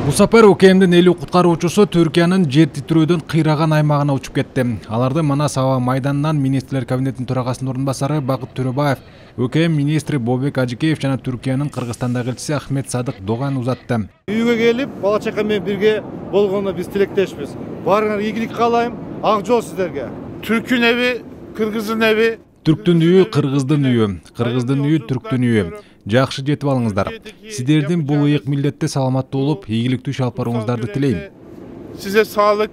Бул сапар УКМдин 50 куткаруучусу Түркиянын жер титирөөдөн кыйраган аймагына учуп кетти. Аларды Манас аба майданынан министрлер кабинетинин төрагасынын орун басары Бакыт Төрөбаев, УКМ министри Бобек Ажикеев жана Түркиянын Кыргызстандагы элчиси Ахмет Садык Доган узатты. Үйгө келип, бала чака менен бирге болгонуна биз тилектешпиз. Баарыңар ийгилик каалайм. Ак жол сиздерге. Түркүн эви, кыргыздын эви. Түрктүн үйү кыргыздын үйү, кыргыздын үйү түрктүн үйү. Жакшы жетип алыңыздар. Сиздердин бул ыйык милдетте саламаттуу болуп, ийгиликтүү иш алып барууңуздарды тилейм. Сизе саалык,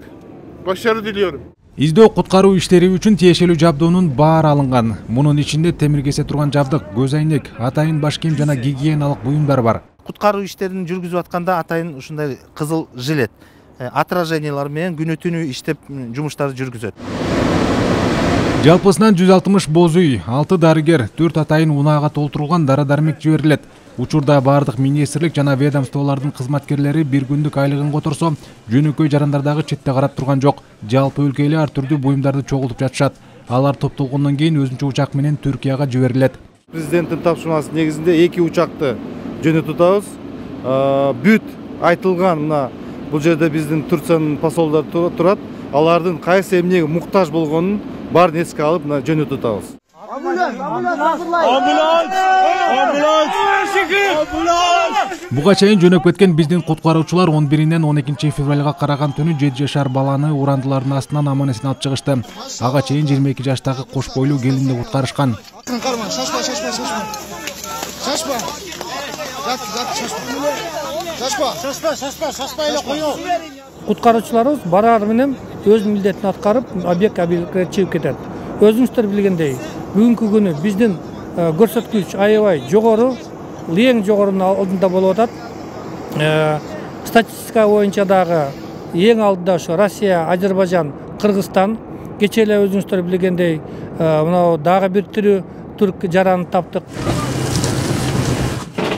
башаруу дилиyorum. Издөө куткаруу иштери үчүн тиешелүү жабдуунун баары алынган. Мунун ичинде темир кесе турган жабдык, көз айнек, атайын баш кийим жана гигиеналык буюмдар бар. Куткаруу иштерин жүргүзүп атканда атайын ушундай кызыл жилет, отражениялар менен күнү түнү иштеп жумуштарды жүргүзөт. Жалпысынан 160 боз үй, 6 дарыгер, 4 атайын унаага толтурулган дары-дармек жиберилет. Учурда бардык министрлик жана ведомстволордун кызматкерлери бир күндүк айлыгын которсо, жөнөкөй жарандардагы четте карап турган жок. Жалпы өлкө эле ар түрдүү буюмдарды чогултуп жатышат. Алар топтолгондон кийин өзүнчө учак менен Түркияга жиберилет. Президенттин тапшырмасы негизинде 2 учакты жөнөтүп атабыз. Бүт айтылган мына бул жерде биздин Турциянын посолдору турат. Алардын кайсы эмнеге муктаж болгонун баарын эске алып жөнөтүп атабыз. Буга чейин жөнөп кеткен биздин куткаруучулар 11-нен 12 февралга караган түнү 7 жашар баланы урандылардын астынан аман-эсен алып чыгышты. Ага чейин 22 жаштагы кош бойлуу келинди куткарышкан. Куткаруучуларыбыз барар менен өз милдетин аткарып, объектке чыгып кетет. Өзүңүздөр билгендей, бүгүнкү күнү биздин көрсөткүч аябай жогору, эң жогорунун алдында болуп атат. Статистика боюнча дагы эң алдыда ошо Россия, Азербайжан, Кыргызстан. Кечээ эле өзүңүздөр билгендей, мына дагы бир тирүү түрк жараны таптык.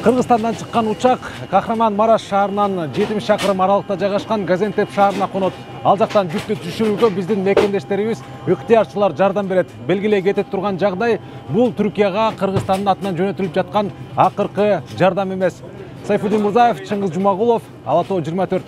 Кыргызстандан чыккан учак Кахраман-Мараш шаарынан 70 чакырым аралыкта жайгашкан Газентеп шаарына конот. Ал жактан жүктү түшүрүүгө биздин мекендештерибиз, ыктыярчылар жардам берет. Белгилей кетип турган жагдай бул Түркияга Кыргызстандын атынан жөнөтүлүп жаткан акыркы жардам эмес. Сайфуддин Мурзаев, Чыңгыз Жумагулов, Ала Тоо 24.